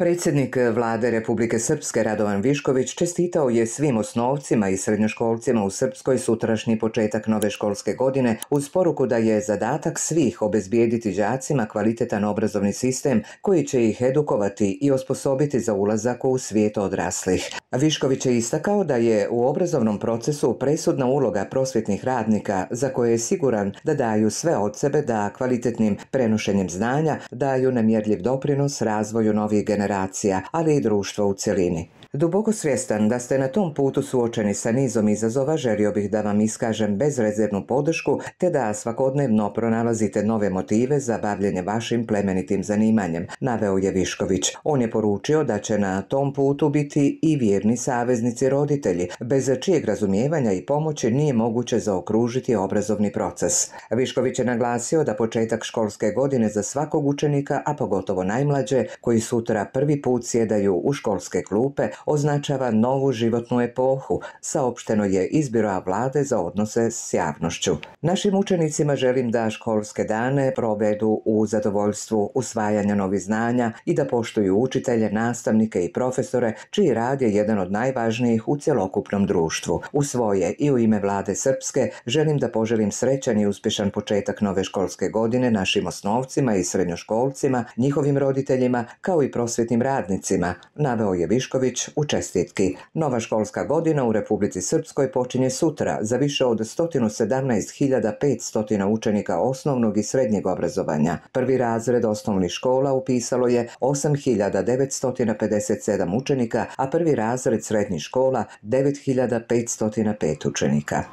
Predsjednik Vlade Republike Srpske Radovan Višković čestitao je svim osnovcima i srednjoškolcima u Srpskoj sutrašnji početak nove školske godine uz poruku da je zadatak svih obezbijediti đacima kvalitetan obrazovni sistem koji će ih edukovati i osposobiti za ulazak u svijet odraslih. Višković je istakao da je u obrazovnom procesu presudna uloga prosvjetnih radnika za koje je siguran da daju sve od sebe da kvalitetnim prenošenjem znanja daju nemjerljiv doprinos razvoju novih generacija, ali i društva u cjelini. Duboko svjestan da ste na tom putu suočeni sa nizom izazova, želio bih da vam iskažem bezrezervnu podršku te da svakodnevno pronalazite nove motive za bavljenje vašim plemenitim zanimanjem, naveo je Višković. On je poručio da će na tom putu biti i vjerni saveznici roditelji, bez čijeg razumijevanja i pomoći nije moguće zaokružiti obrazovni proces. Višković je naglasio da početak školske godine za svakog učenika, a pogotovo najmlađe, koji sutra prvi put sjedaju u školske klupe, označava novu životnu epohu, saopšteno je iz Biroa Vlade za odnose s javnošću. Našim učenicima želim da školske dane provedu u zadovoljstvu usvajanja novih znanja i da poštuju učitelje, nastavnike i profesore, čiji rad je jedan od najvažnijih u cjelokupnom društvu. U svoje i u ime Vlade Srpske želim da poželim srećan i uspješan početak nove školske godine našim osnovcima i srednjoškolcima, njihovim roditeljima, kao i prosvjetnim radnicima, naveo je Višković u čestitki. Nova školska godina u Republici Srpskoj počinje sutra za više od 117.500 učenika osnovnog i srednjeg obrazovanja. Prvi razred osnovnih škola upisalo je 8.957 učenika, a prvi razred srednjih škola 9.505 učenika.